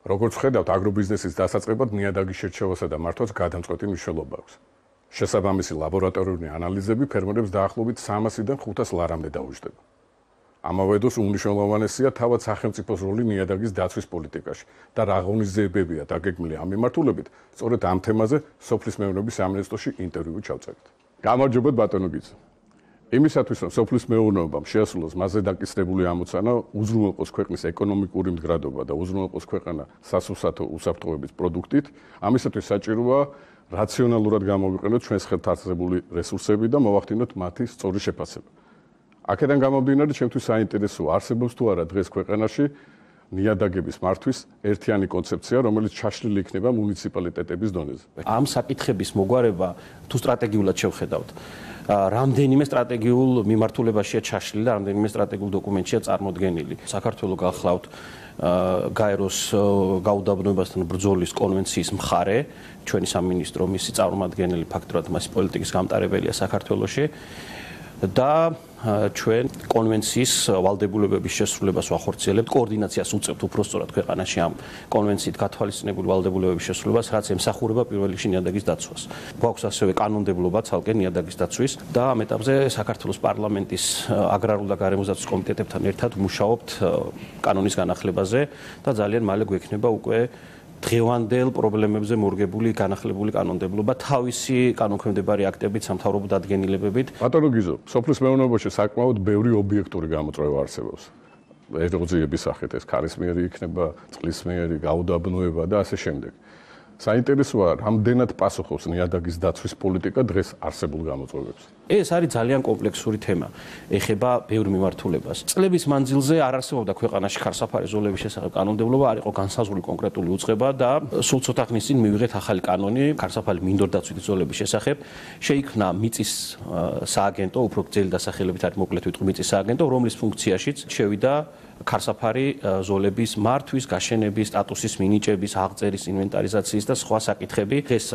როგორც ხედავთ, აგრობიზნესის დასაწყებად ნიადაგის შერჩევასა და მართვას გადამწყვეტი მნიშვნელობა აქვს. შესაბამისი ლაბორატორიული ანალიზები ფერმერებს დაახლოებით 300-დან 500 ლარამდე დაუჯდება. ამავე დროს უმნიშვნელოვანესია თავად სახელმწიფოს როლი ნიადაგის დაცვის პოლიტიკაში და რა ღონისძიებებია დაგეგმილი ამ მიმართულებით, სწორედ ამ თემაზე სოფლის მეურნეობის სამინისტროში ინტერვიუ ჩავწერეთ. გამარჯობა ბატონო გიძა. იმისათვის, რომ სოფლის მეურნეობამ შეასრულოს მასზე დაკისრებული ამოცანა, უზრუნველყოს ქვეყნის ეკონომიკური მდგრადობა და უზრუნველყოს ქვეყანა სასურსათო უსაფრთხოების პროდუქტით, ამისათვის საჭიროა რაციონალურად გამოვიყენოთ ჩვენს ხელთ არსებული რესურსები და მოვახდინოთ მათი სწორი შეფასება. აქედან გამომდინარე, ჩემთვის საინტერესოა, არსებობს თუ არა დღეს ქვეყანაში ნიადაგების მართვის ერთიანი კონცეფცია, რომელიც ჩაშლილი იქნება მუნიციპალიტეტების დონეზე. ამ საკითხების მოგვარება თუ სტრატეგიულად შევხედავთ, რამდენიმე სტრატეგიულ მიმართულებაშია ჩაშლილი და რამდენიმე სტრატეგიულ დოკუმენტშია წარმოდგენილი. საქართველოს გახლავთ გაეროს გაუდაბნოებასთან ბრძოლის კონვენციის მხარე, ჩვენი სამინისტრო მისი წარმომადგენელი ფაქტურად მასი პოლიტიკის გამტარებელია საქართველოში და ჩვენ კონვენციის ვალდებულებების შესრულებას ვახორციელებთ, კოორდინაციას უწევთ უпростоრად ქვეყანაში ამ კონვენციით გათვალისწინებული ვალდებულებების შესრულებას, რაც ემსახურება პირველ რიგში ნიადაგის დაცვას. გვაქვს ასევე კანონმდებლობა ცალკე ნიადაგის დაცვის და ამ ეტაპზე საქართველოს პარლამენტის აგრარულ და გარემოსდაცვის კომიტეტებთან ერთად ვმუშაობთ კანონის განახლებაზე და ძალიან მალე გვექნება უკვე დღევანდელ პრობლემებზე მორგებული განახლებული კანონმდებლობა თავისი კანონქვემდებარი აქტებით, სამთავრობო დადგენილებებით. ბატონო გიზო, სოფლის მეურნეობაში საკმაოდ ბევრი ობიექტური გამოწვევა არსებობს. ეროზიების სახით ეს ქარისმიერი იქნება, წყლისმიერი, გაუდაბნოება და ასე შემდეგ. საინტერესოა, რამდენად პასუხობს ნიადაგის დაცვის პოლიტიკა დღეს არსებულ გამოწვევებს. ეს არის ძალიან კომპლექსური თემა. ეხება ბევრ მიმართულებას. წლების მანძილზე არ არსებობდა ქვეყანაში ხარსაფარი ზოლების შესახებ კანონმდებლობა, არ იყო განსაზღვრული კონკრეტული უწყება და სულ ცოტა ხნის წინ მივიღეთ ახალი კანონი ხარსაფარი მინდორდაცვითი ზოლების შესახებ. შეიქმნა მიწის სააგენტო, უფრო გრძელი დასახელებით არის მოკლედ ვიტყვი მიწის სააგენტო, რომლის ფუნქციაშიც შევიდა ხარსაფარი ზოლების მართვის, გაშენების, სტატუსის მინიჭების, აღწერის, ინვენტარიზაციის და სხვა საკითხები. ეს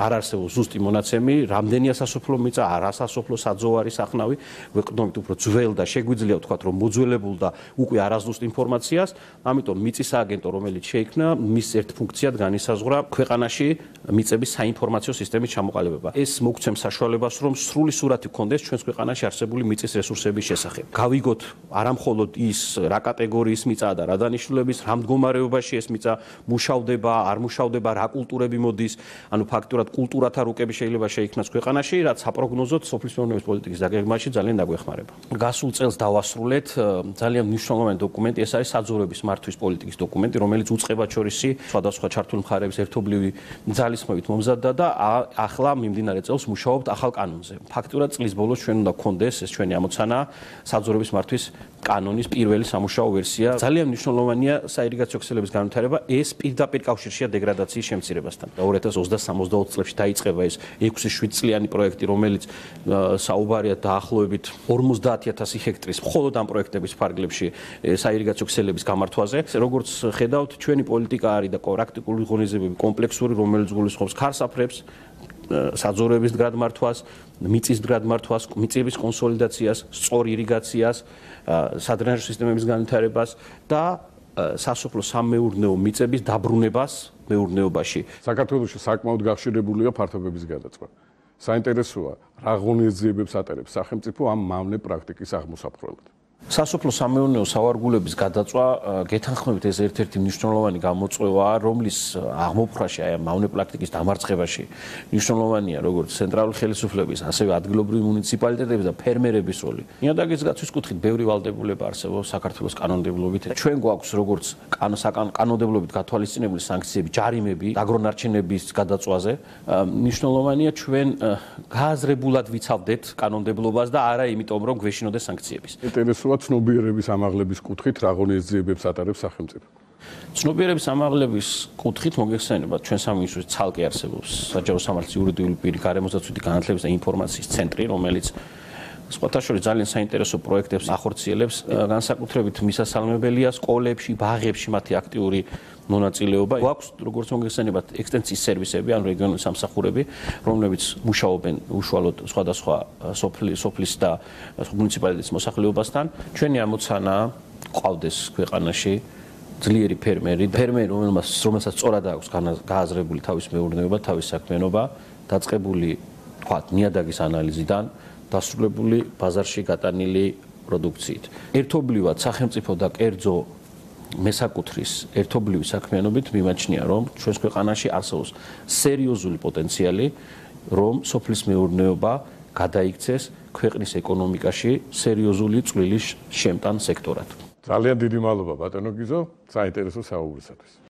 არ არსებობს ზუსტი მონაცემი, რამდენია სასოფლო მიწა, არასასოფლო საძოვარი სახნავი, ვეყდნობით უფრო ძველ და შეგვიძლია ვთქვათ, რომ მოძველებულ და უკვე არაზუსტ ინფორმაციას, ამიტომ მიწის სააგენტო, რომელიც შეიქმნა, მის ერთ ფუნქციად განისაზღვრა ქვეყანაში მიწების საინფორმაციო სისტემის ჩამოყალიბება. ეს მოგცემს საშუალებას, რომ სრული სურათი გქონდეს ჩვენს ქვეყანაში არსებული მიწის რესურსების შესახებ. გავიგოთ არამხოლოდ ის რა კატეგორიის მიწაა და რა დანიშნულების, რა მდგომარეობაში ეს მიწა მუშავდება, არ მუშავდება, რა კულტურები მოდის, ანუ ფაქტურად კულტურათა რუკები შეიძლება შეიქმნას ქვეყანაში, რაც საპროგნოზოდ სოფლის მეურნეობის პოლიტიკის დაგეგმვაში ძალიან დაგვეხმარება. გასულ წელს დავასრულეთ ძალიან მნიშვნელოვანი დოკუმენტი, ეს არის საძოვრების მართვის პოლიტიკის დოკუმენტი, რომელიც უწყებად შორისი სხვადასხვა ჩართული მხარეების ერთობლივი ძალისხმევით მომზადდა და ახლა მიმდინარე წელს მუშაობთ ახალ კანონზე. ფაქტურად წლის ბოლოს ჩვენ უნდა გქონდეს ეს ჩვენი ამოცანა საძოვრების მართვის კანონის პირველი სამუშაო ვერსია. ძალიან მნიშვნელოვანია საირიგაციო ქსელების განვითარება, ეს პირდაპირ კავშირშია დეგრადაციის შემცირებასთან. 2023-24 წლებში დაიწყება ეს 6-7 წლიანი პროექტი, რომელიც საუბარია დაახლოებით 50,000 ჰექტრის მხოლოდ ამ პროექტების ფარგლებში საირიგაციო ქსელების გამართვაზე. როგორც ხედავთ, ჩვენი პოლიტიკა არის და პრაქტიკული ღონისძიებები კომპლექსური, რომელიც გულისხმობს ხარსაფრებს, საძოვრების მდგრადმართვას, მიწის მდგრადმართვას, მიწების კონსოლიდაციას, სწორ ირიგაციას, სადრენაჟო სისტემების განვითარებას და სასოფლო-სამეურნეო მიწების დაბრუნებას მეურნეობაში. საქართველოში საკმაოდ გახშირებულია ფართობების გადაწყვეტა. საინტერესოა, რა ღონისძიებებს ატარებს სახელმწიფო ამ მავნე პრაქტიკის აღმოსაფხვრელად. სასოფლო-სამეურნეო სავარგულების გადაწვა გეთანხმებით ეს ერთ-ერთი მნიშვნელოვანი გამოწვევაა, რომლის აღმოფხვრაში აი ამ მავნე პრაქტიკის დამარცხებაში მნიშვნელოვანია როგორც ცენტრალური ხელისუფლების, ასევე ადგილობრივი მუნიციპალიტეტების და ფერმერების როლი. ნიადაგის დაცვის კუთხით ბევრი ვალდებულება არსებობს საქართველოს კანონმდებლობით. ჩვენ გვაქვს როგორც კანონმდებლობით გათვალისწინებული სანქციები, ჯარიმები, აგრონარჩენების გადაწვაზე. მნიშვნელოვანია ჩვენ გააზრებულად ვიცავდეთ კანონმდებლობას და არა იმიტომ, რომ გვეშინოდეს სანქციების. ცნობიერების ამაღლების კუთხით რა ღონისძიებებს ატარებს სახელმწიფო? ცნობიერების ამაღლების კუთხით მოგეხსენებათ, ჩვენ სამინისტროში ცალკე არსებობს საჯარო სამართლის იურიდიული პირი გარემოსდაცვითი განათლების და ინფორმაციის ცენტრი, რომელიც სხვათა შორის ძალიან საინტერესო პროექტებს ახორციელებს, განსაკუთრებით მისასალმებელია სკოლებში, ბაღებში მათი აქტიური მონაწილეობა. გვაქვს, როგორც მოგეხსენებათ, ექსტენსიის სერვისები, ან რეგიონული სამსახურები, რომლებიც მუშაობენ უშუალოდ სხვადასხვა სოფლის და მუნიციპალიტეტის მოსახლეობასთან. ჩვენი ამოცანა ყავდეს ქვეყანაში ძლიერი ფერმერი, რომელსაც სწორად აქვს გააზრებული თავის მეურნეობა, თავის საქმიანობა, დაწყებული, თქვათ, ნიადაგის ანალიზიდან დასრულებული ბაზარში გატანილი პროდუქციით. ერთობლივად სახელმწიფო და კერძო მესაკუთრის ერთობლივი საქმიანობით მიმაჩნია, რომ ჩვენს ქვეყანაში არსებობს სერიოზული პოტენციალი, რომ სოფლის მეურნეობა გადაიქცეს ქვეყნის ეკონომიკაში სერიოზული წვლილის შემტან სექტორად. ძალიან დიდი მადლობა ბატონო გიზო, საინტერესო საუბრისათვის.